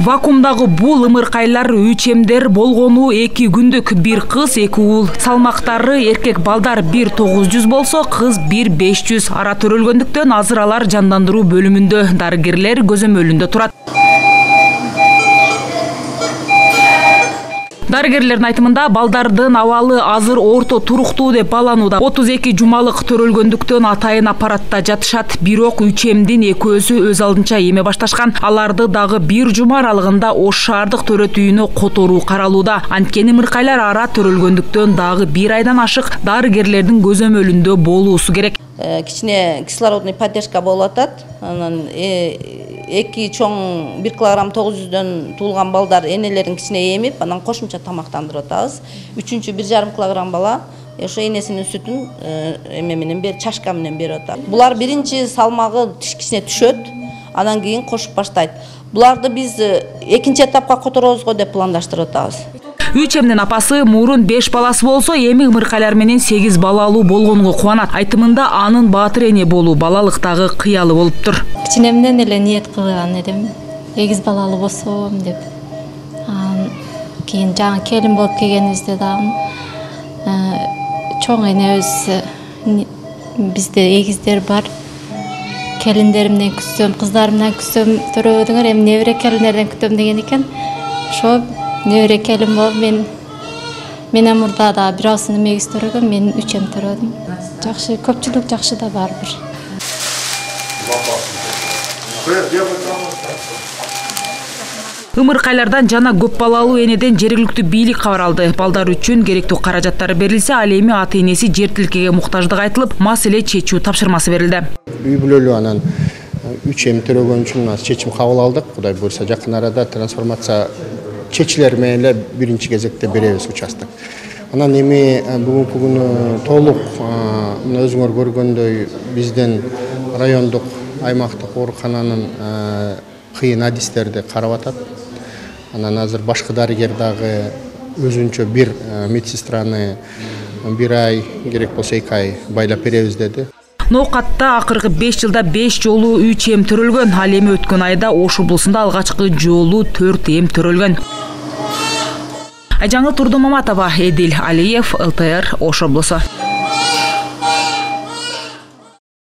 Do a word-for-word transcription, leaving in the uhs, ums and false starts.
Вакуумдагы бул ымыркайлар үчемдер болгону эки күндүк. Бир кыз, эки уул. Салмактары эркек балдар бир тогуз жүз болсо, кыз бир беш жүз. Ара төрөлгөндүктөн азыр алар жандандыруу бөлүмүндө, дарыгерлер көзөмөлүндө турат. Дарыгерлердин айтымында балдардын абалы азыр орто туруктуу деп бааланууда. отуз эки жумалык төрөлгөндүктөн атайын аппаратта жатышат. Бирок үчемдин экөөсү өз алдынча эме башташкан. Аларды дагы бир жума аралыгында Ош шаардык төрөт үйүнө которуу каралууда. Анткени ымыркайлар ара төрөлгөндүктөн дагы бир айдан ашык дарыгерлердин көзөмөлүндө болуусу керек. Кичине кислородный поддержка болуп атат. Анан эки чоң бир килограмм тогуз жүздөн туулган балдар энелерин кичине эмип, анан кошумча тамактандырып атабыз. Үчүнчү бир жарым килограмм бала ошо энесинин сүтүн эме менен бер чашка менен берип атат. Булар биринчи салмагы кичине түшөт, анан кийин кошуп баштайт. Буларды биз экинчи этапка которобузго деп пландаштырып атабыз. Үчемдин апасы мурун беш баласы болсо, эми ымыркайлар менен сегиз балалуу болгонуга кубанат. Айтымында анын баатыр эне болуу балалыктагы кыялы болуптур. Кичинемден эле ниет кылган элем, эгиз балалуу болсом деп. Кийин жаңы келин болуп келгенибизде дагы чоң энебиз бизде эгиздер бар. Келиндеримден күтсөм, кыздарымдан күтсөм төрөбөдүңөр, эми небере келиндерден күтөм деген экен. Ошо небере келин болуп мен менен мурда да бир авсыны эгиз төрөгөм, мен үчем төрөдүм. Жакшы, көпчүлүк жакшы да барбыр. Ымыркайлардан жана көп балалуу энеден жергиликтүү бийлик кабар алды. Балдар үчүн керектүү каражаттар берилсе, ал эми ата энеси жер тилкеге муктаждык айтылып, маселе чечүү тапшырмасы берилди. Үй бүлөлүү анан үчем төрөгөн үчүн чечим кабыл алдык. Кудай буйрса жакын арада трансформация чечилер менен эле биринчи кезекте беребиз участок. Анан эми бүгүнкү күнү толук өзүңөр көргөндөй биздин райондук аймактык оорукананын кыйын адистерди карап атат. Анан азыр башкы дарыгер дагы өзүнчө бир медсестраны бир ай, керек болсо эки ай байлап беребиз деди. Ноокатта акыркы беш жылда беш жолу үч эм төрөлгөн. Ал эми өткөн айда Ош облусунда алгачкы жолу төрт эм төрөлгөн. Айжаңыл Турдумаматова, Эдил Алиев, эл тэ эр, Ош облусу.